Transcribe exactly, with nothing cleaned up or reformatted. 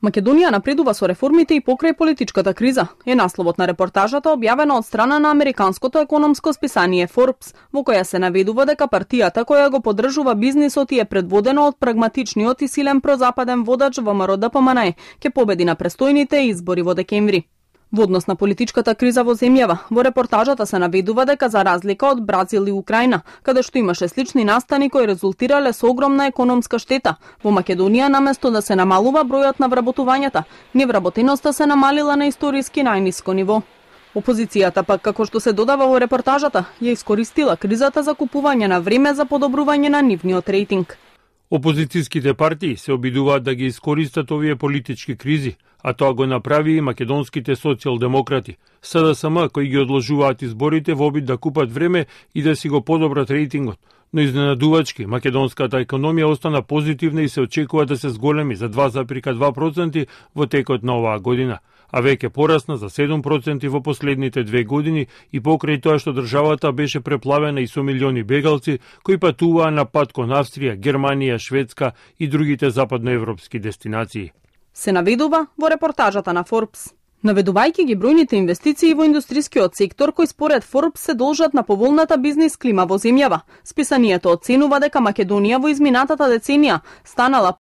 Македонија напредува со реформите и покрај политичката криза, е насловот на репортажата објавена од страна на американското економско списание Forbes, во која се наведува дека партијата која го поддржува бизнисот и е предводена од прагматичниот и силен прозападен водач Во Ем Ар Д П М Н Е ќе победи на престојните избори во декември. Во однос на политичката криза во земјава, во репортажата се наведува дека за разлика од Бразил и Украина, каде што имаше слични настани кои резултирале со огромна економска штета, во Македонија наместо да се намалува бројот на вработувањата, невработеноста се намалила на историски најниско ниво. Опозицијата пак, како што се додава во репортажата, ја искористила кризата за купување на време за подобрување на нивниот рейтинг. Опозицијските партии се обидуваат да ги искористат овие политички кризи, а тоа го направи и македонските социјалдемократи, С Д С М, кои ги одложуваат изборите во обид да купат време и да си го подобрат рейтингот. Но изненадувачки, македонската економија остана позитивна и се очекува да се зголеми за два зарез два проценти во текот на оваа година, а веќе порасна за седум проценти во последните две години и покрај тоа што државата беше преплавена и со милиони бегалци кои патуваа на пат кон Австрија, Германија, Шведска и другите западноевропски дестинации. Се наведува во репортажата на Forbes. Наведувајќи ги бројните инвестиции во индустрискиот сектор кои според Forbes се должат на поволната бизнис клима во земјава, списанието оценува дека Македонија во изминатата деценија станала